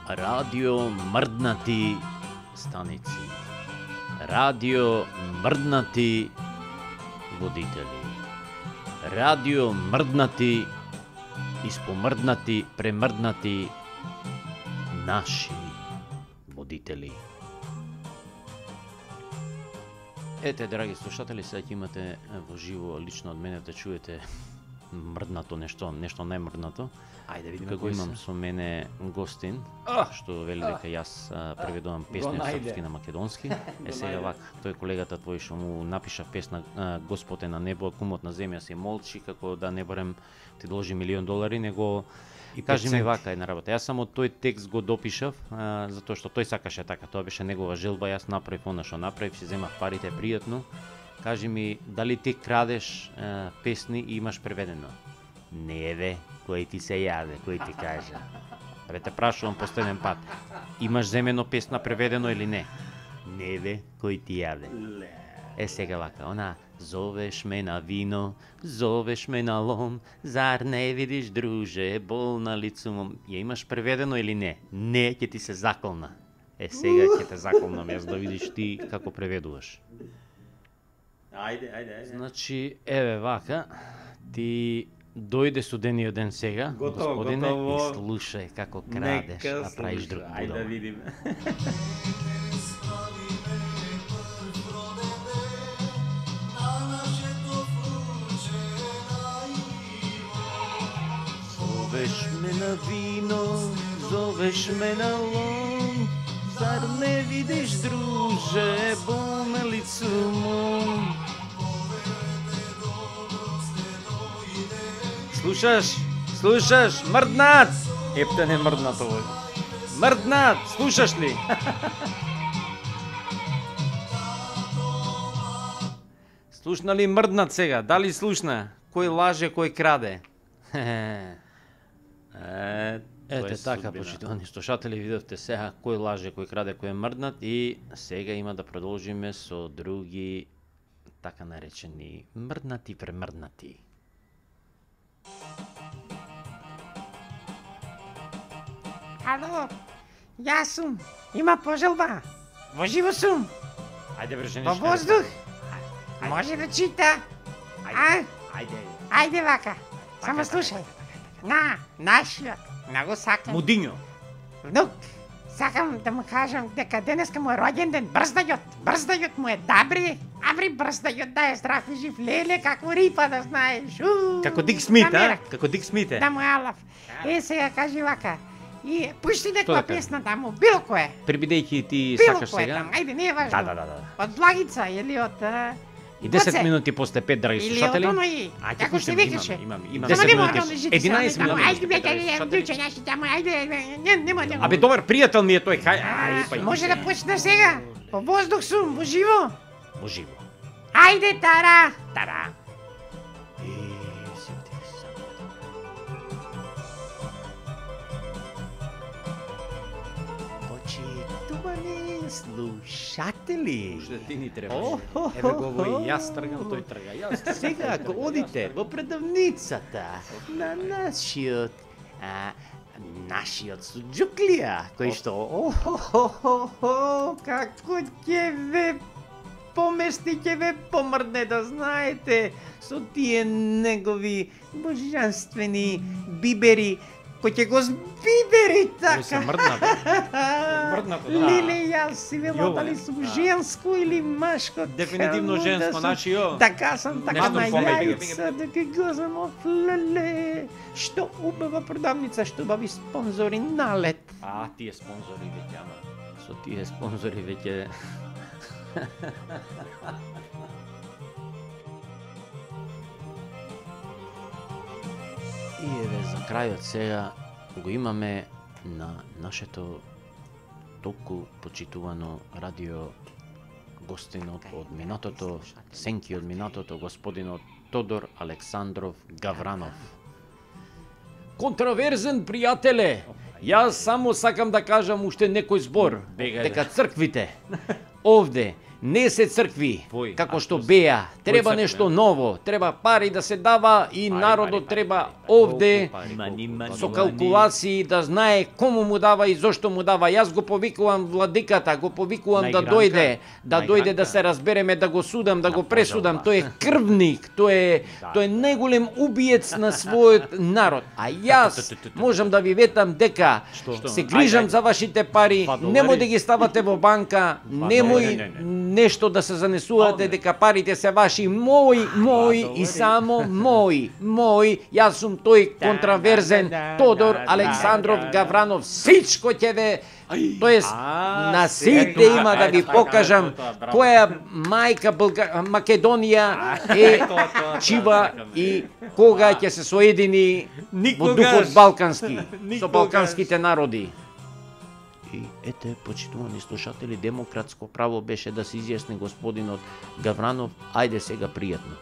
Радио мрднати станици. Радио мрднати водители. Радио мрднати, испомрднати, премрднати наши водители. Ете, драги слушатели, сега ќе имате во живо лично од мене да чуете мрднато нешто најмрднато. Ајде видиме Како кој имам се. со мене гостин, што вели дека јас преведувам песни од српски на македонски. Сега вака, тој колегата твој што му напиша песна Господ е на небо, кумот на земја се молчи, како да не барем ти должи $1.000.000, него И кажи ми 5 вака една работа. Јас само тој текст го допишав, затоа што тој сакаше така, тоа беше негова желба, јас направив она што направив, си земав парите пријатно. Кажи ми, дали ти крадеш песни и имаш преведено? Не бе, кој ти се јаде, кој ти кажа. Абе те прашувам последен пат. Имаш земено песна преведено или не? Не бе, кој ти јаде. Е сега вака, она зовеш ме на вино, зовеш ме на лом, зар не видиш, друже, болна лицумом. Ја имаш преведено или не? Не, ќе ти се заколна. Е сега ќе те заколнам јас да видиш ти како преведуваш. Ајде. Значи, еве вака, ти дојде студениот ден сега, Готово, господине, готово. и слушај како крадеш, а правиш друг Ајде да будал. видиме. Зовеш ме на вино, зовеш ме на лом, зар не видиш, друже, болна лицумом. Слушаш, мрднат! Епте не мрднат овој. Мрднат, слушаш ли? Слушна ли мрднат сега? Дали слушна? Кој лаже, кој краде? Ете така, почитувани слушатели, видовте сега кој лаже, кој краде, кој е мрднат, и сега има да продолжиме со други така наречени мрднати премрднати. Ало, јас сум. Има пожелба. Во живо сум. Ајде бре, Во воздух. Може да чита. А? Ајде вака. Само слушај. На нашиот, многу сакам Мудињо. внук. Сакам да му кажам дека денеска му е роѓен ден. Брздајот му е добри. Абри брздајот да е здрав и жив. Леле, како рипа да знаеш. Како Дик Смит, намерак. Како Дик Смит е. Да му е алав. Е, сега кажи вака. И пушти Што некоја да кажи? песна да му, било кое. Прибидејќи ти Било сакаш кое сега. там, ајде, не е важно. Да. Од Благица или од И 10 Гоце. минути после 5, драги или од слушатели. оној, Ајде, како се пуштаме, викаше? имам. Само 10 нема минути. оној жити, 11 само минути. Ајде, бе, драги слушатели. дуче, јас таму, ајде, нема. Абе, добар пријател ми е тој. Ајде, па Може да почне сега? Во воздух сум, во живо. во живо. Ајде, Тара. Почитувани слушатели. Уште ти ни треба. Еве го во и јас тргам, тој трга. Јас сега ако одите во предавницата на нашиот Суџуклија, кој што Како ќе ве помести, ќе ве помрдне, да знаете, со тие негови божанствени бибери, кој ќе го збибери Кој се така. мрднат. Мрднато, да. Леле, јас си вело Јове. дали сум женско или машко. Дефинитивно Камо женско, сум. значи јо. Така сам, така Нешто на помеѓу. јајца, дека го знам, леле. Што убава продавница, што убави спонзори налет. А, тие спонзори веќе, ама со тие спонзори веќе И еве за крајот сега го имаме на нашето толку почитувано радио гостинот од минатото, сенки од минатото, господинот Тодор Александров Гавранов. Контраверзен пријателе, јас само сакам да кажам уште некој збор, дека црквите овде Не се цркви, Вој, како а што што беа. Треба цркви, нешто а? ново, треба пари да се дава и народот треба овде со калкулации да знае кому му дава и зошто му дава. Јас го повикувам владиката, го повикувам да Наигранка. дојде, да дојде да Наигранка. се разбереме, да го судам, да го На пресудам. пожалба. Тој е крвник, тој е најголем убиец на својот народ. А јас можам да ви ветам дека Што? се грижам Ајде, за вашите пари, Два долари. немој да ги ставате во банка, немој не. нешто да се занесувате дека парите се ваши, мои и само мои. Јас сум тој контраверзен Тодор Александров Гавранов, сичко ќе ве, тоест на сите има да ви покажам која мајка Македонија е чива и кога ќе се соедини во духот балкански со балканските народи. И ете, почитувани слушатели, демократско право беше да се изјасни господинот Гавранов, ајде сега пријатно.